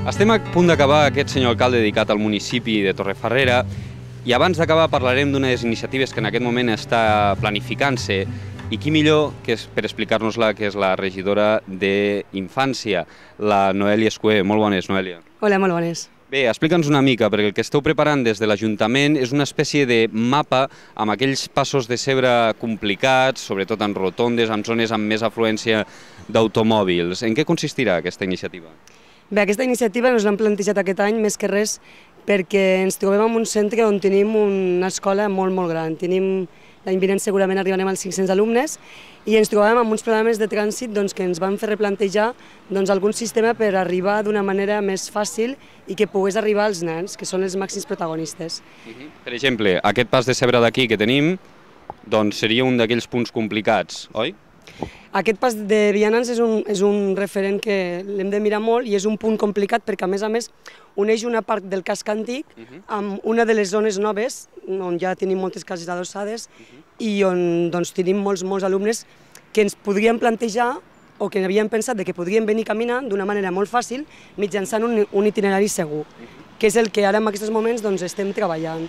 Estem a punt d'acabar aquest senyor alcalde dedicat al municipi de Torrefarrera i abans d'acabar parlarem d'unes iniciatives que en aquest moment està planificant-se i qui millor que és per explicar-nos-la, que és la regidora d'Infància, la Noèlia Escué. Molt bones, Noèlia. Hola, molt bones. Bé, explica'ns una mica, perquè el que esteu preparant des de l'Ajuntament és una espècie de mapa amb aquells passos de zebra complicats, sobretot en rotondes, en zones amb més afluència d'automòbils. En què consistirà aquesta iniciativa? Bé, aquesta iniciativa ens l'hem plantejat aquest any més que res perquè ens trobem en un centre on tenim una escola molt gran. L'any vinent segurament arribarem als 500 alumnes i ens trobàvem amb uns problemes de trànsit que ens van fer replantejar algun sistema per arribar d'una manera més fàcil i que pogués arribar als nens, que són els màxims protagonistes. Per exemple, aquest pas de zebra d'aquí que tenim seria un d'aquells punts complicats, oi? Aquest pas de vianants és un referent que l'hem de mirar molt i és un punt complicat perquè, a més, uneix una part del casc antic amb una de les zones noves, on ja tenim moltes cases adossades i on tenim molts alumnes que ens podríem plantejar o que havíem pensat que podrien venir caminant d'una manera molt fàcil mitjançant un itinerari segur, que és el que ara en aquests moments estem treballant.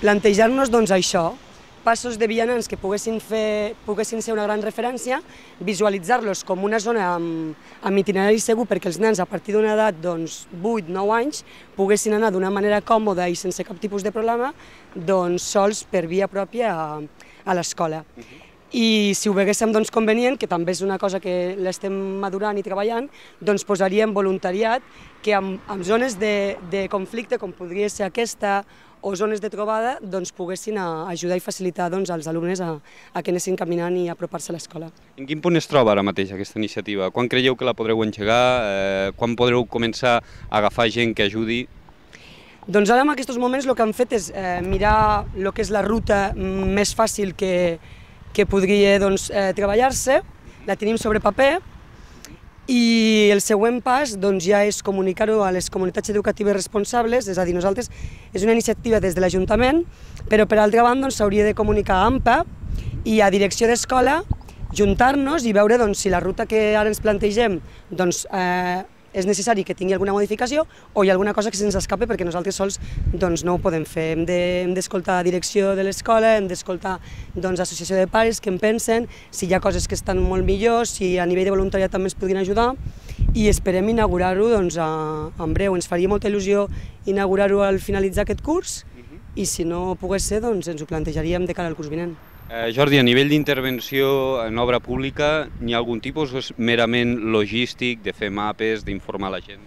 Plantejar-nos això, passos de vianants que poguessin ser una gran referència, visualitzar-los com una zona amb itinerari segur perquè els nens a partir d'una edat 8-9 anys poguessin anar d'una manera còmoda i sense cap tipus de problema sols per via pròpia a l'escola. I si ho veiéssim convenient, que també és una cosa que l'estem madurant i treballant, posaríem voluntariat que en zones de conflicte, com podria ser aquesta, o zones de trobada, poguessin ajudar i facilitar als alumnes a que anessin caminant i apropar-se a l'escola. En quin punt es troba ara mateix aquesta iniciativa? Quan creieu que la podreu engegar? Quan podreu començar a agafar gent que ajudi? Doncs ara en aquests moments el que hem fet és mirar el que és la ruta més fàcil que podria treballar-se, la tenim sobre paper, i el següent pas ja és comunicar-ho a les comunitats educatives responsables, és a dir, nosaltres és una iniciativa des de l'Ajuntament, però per altra banda s'hauria de comunicar a AMPA i a direcció d'escola, juntar-nos i veure si la ruta que ara ens plantegem és necessari que tingui alguna modificació o hi ha alguna cosa que se'ns escape perquè nosaltres sols no ho podem fer. Hem d'escoltar la direcció de l'escola, hem d'escoltar l'associació de pares, què en pensen, si hi ha coses que estan molt millors, si a nivell de voluntariat també ens podrien ajudar i esperem inaugurar-ho en breu. Ens faria molta il·lusió inaugurar-ho al finalitzar aquest curs i si no pogués ser ens ho plantejaríem de cara al curs vinent. Jordi, a nivell d'intervenció en obra pública, n'hi ha algun tipus o és merament logístic, de fer mapes, d'informar la gent?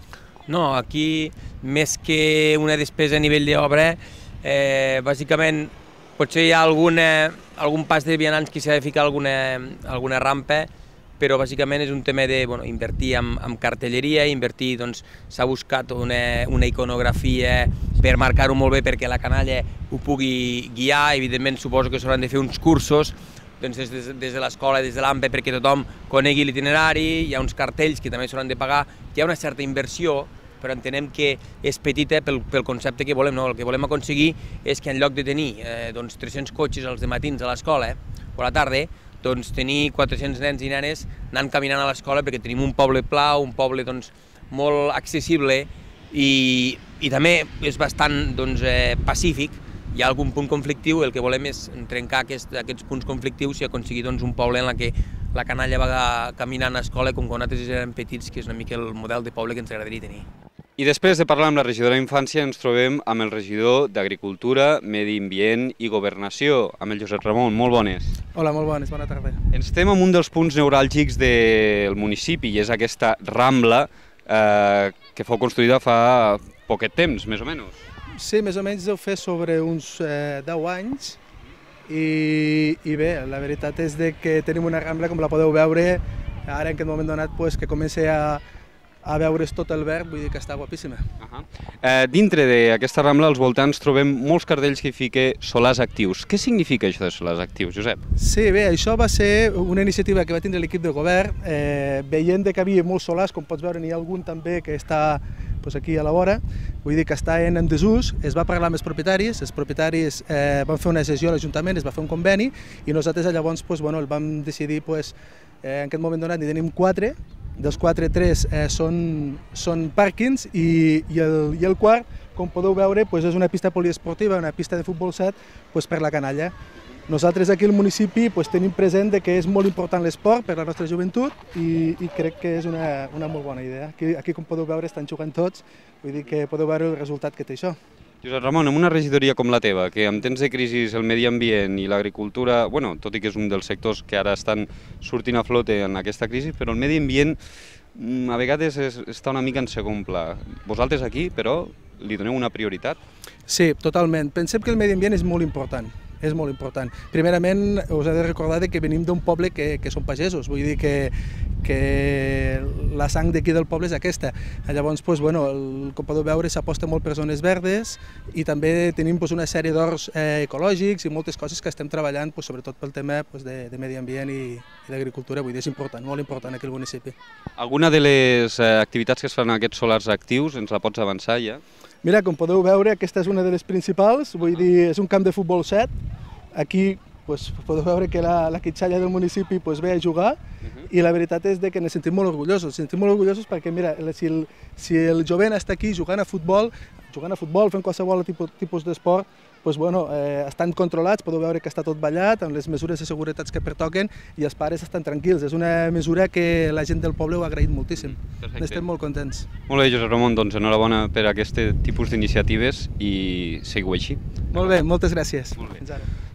No, aquí, més que una despesa a nivell d'obra, bàsicament potser hi ha algun pas de vianants que s'ha de ficar alguna rampa, però bàsicament és un tema d'invertir en cartelleria, s'ha buscat una iconografia per marcar-ho molt bé perquè la canalla ho pugui guiar, evidentment suposo que s'hauran de fer uns cursos des de l'escola, des de l'AMPE, perquè tothom conegui l'itinerari, hi ha uns cartells que també s'hauran de pagar, hi ha una certa inversió, però entenem que és petita pel concepte que volem. El que volem aconseguir és que en lloc de tenir 300 cotxes als matins a l'escola o a la tarda, tenir 400 nens i nenes anant caminant a l'escola perquè tenim un poble pla, un poble molt accessible i també és bastant pacífic. Hi ha algun punt conflictiu, el que volem és trencar aquests punts conflictius i aconseguir un poble en què la canalla va caminant a l'escola com quan nosaltres érem petits, que és una mica el model de poble que ens agradaria tenir. I després de parlar amb la regidora d'Infància ens trobem amb el regidor d'Agricultura, Medi Ambient i Governació, amb el Josep Ramon. Molt bones. Hola, molt bones, bona tarda. Estem en un dels punts neuràlgics del municipi i és aquesta Rambla que fou construïda fa poquet temps, més o menys. Sí, més o menys deu fer sobre uns 10 anys i bé, la veritat és que tenim una Rambla, com la podeu veure, ara en aquest moment donat que comença a veure's tot el verd, vull dir que està guapíssima. Dintre d'aquesta Rambla, als voltants, trobem molts cartells que fiquen solars actius. Què significa això de solars actius, Josep? Sí, bé, això va ser una iniciativa que va tindre l'equip de govern, veient que hi havia molts solars, com pots veure n'hi ha algun també que està aquí a la vora, vull dir que està en desús, es va parlar amb els propietaris van fer una sessió a l'Ajuntament, es va fer un conveni i nosaltres llavors el vam decidir, en aquest moment donat n'hi tenim 4 dels 4, 3 són pàrquings i el quart, com podeu veure, és una pista poliesportiva, una pista de futbol 7 per la canalla. Nosaltres aquí al municipi tenim present que és molt important l'esport per a la nostra joventut i crec que és una molt bona idea. Aquí, com podeu veure, estan jugant tots, vull dir que podeu veure el resultat que té això. Josep Ramon, en una regidoria com la teva, que en temps de crisi el medi ambient i l'agricultura, tot i que és un dels sectors que ara estan sortint a flote en aquesta crisi, però el medi ambient a vegades està una mica en segon pla. Vosaltres aquí, però, li doneu una prioritat? Sí, totalment. Pensem que el medi ambient és molt important. És molt important. Primerament, us he de recordar que venim d'un poble que són pagesos, vull dir que la sang d'aquí del poble és aquesta. Llavors, com podeu veure, s'aposta molt per zones verdes i també tenim una sèrie d'horts ecològics i moltes coses que estem treballant, sobretot pel tema de medi ambient i d'agricultura. Vull dir, és important, molt important aquí al municipi. Alguna de les activitats que es fan en aquests solars actius ens la pots avançar ja? Mira, com podeu veure, aquesta és una de les principals, vull dir, és un camp de futbol 7. Aquí podeu veure que la quitxalla del municipi ve a jugar i la veritat és que ens sentim molt orgullosos. Ens sentim molt orgullosos perquè, mira, si el jovent està aquí jugant a futbol, fent qualsevol tipus d'esport, estan controlats, podeu veure que està tot ballat, amb les mesures de seguretat que pertoquen i els pares estan tranquils. És una mesura que la gent del poble ho ha agraït moltíssim. Estem molt contents. Molt bé, Josep Ramon, doncs enhorabona per aquest tipus d'iniciatives i seguiu així. Molt bé, moltes gràcies.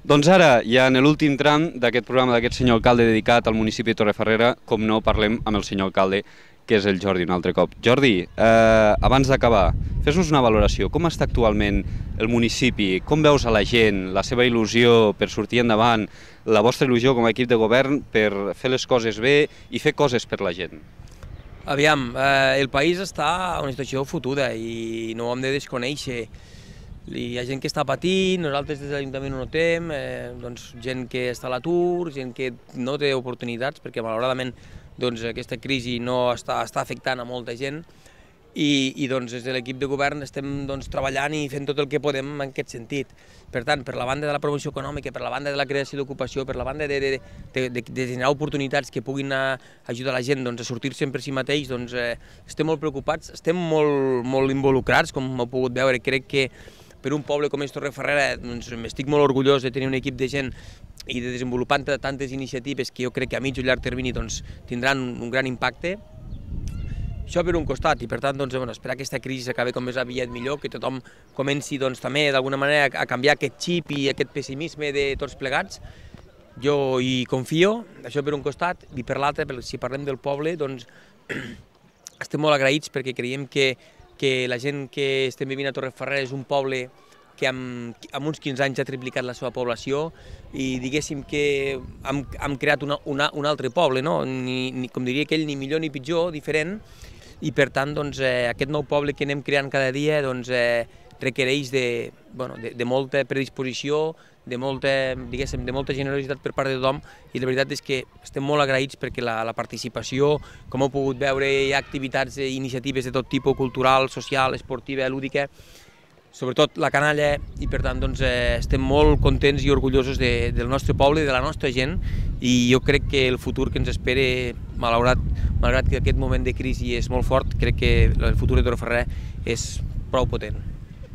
Doncs ara, ja en l'últim tram d'aquest programa d'aquest senyor alcalde dedicat al municipi de Torrefarrera, com no, parlem amb el senyor alcalde, que és el Jordi un altre cop. Jordi, abans d'acabar, fes-nos una valoració. Com està actualment el municipi? Com veus a la gent, la seva il·lusió per sortir endavant, la vostra il·lusió com a equip de govern per fer les coses bé i fer coses per la gent? Aviam, el país està en una situació fotuda i no ho hem de desconèixer. Hi ha gent que està patint, nosaltres des de l'Ajuntament ho notem, gent que està a l'atur, gent que no té oportunitats, perquè malauradament aquesta crisi no està afectant a molta gent i des de l'equip de govern estem treballant i fent tot el que podem en aquest sentit. Per tant, per la banda de la promoció econòmica, per la banda de la creació d'ocupació, per la banda de generar oportunitats que puguin ajudar la gent a sortir-se per si mateix, estem molt preocupats, estem molt involucrats, com heu pogut veure. Crec que per un poble com és Torrefarrera m'estic molt orgullós de tenir un equip de gent i de desenvolupar tantes iniciatives que jo crec que a mig o llarg termini tindran un gran impacte. Això per un costat, i per tant esperar que aquesta crisi s'acabi com més aviat millor, que tothom comenci també d'alguna manera a canviar aquest xip i aquest pessimisme de tots plegats. Jo hi confio, això per un costat, i per l'altre, si parlem del poble, estem molt agraïts perquè creiem que la gent que estem vivint a Torrefarrera és un poble que en uns 15 anys ha triplicat la seva població i diguéssim que hem creat un altre poble, com diria aquell, ni millor ni pitjor, diferent, i per tant aquest nou poble que anem creant cada dia requereix de molta predisposició, de molta generositat per part de tothom, i la veritat és que estem molt agraïts perquè la participació, com heu pogut veure, hi ha activitats i iniciatives de tot tipus, cultural, social, esportiva, lúdica, sobretot la canalla, i per tant estem molt contents i orgullosos del nostre poble i de la nostra gent, i jo crec que el futur que ens espera, malgrat que aquest moment de crisi és molt fort, crec que el futur de Torrefarrera és prou potent.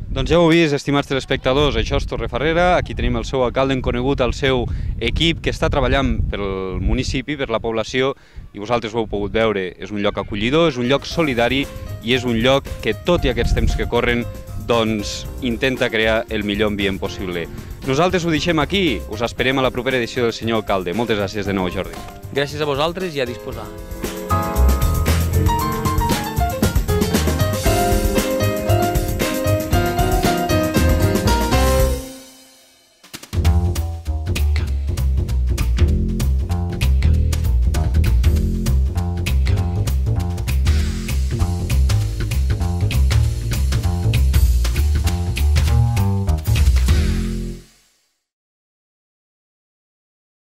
Doncs ja ho heu vist, estimats telespectadors, això és Torrefarrera, aquí tenim el seu alcalde, hem conegut el seu equip que està treballant pel municipi, per la població, i vosaltres ho heu pogut veure, és un lloc acollidor, és un lloc solidari i és un lloc que, tot i aquests temps que corren, intenta crear el millor ambient possible. Nosaltres ho deixem aquí, us esperem a la propera edició del senyor alcalde. Moltes gràcies de nou, Jordi. Gràcies a vosaltres i a disposar.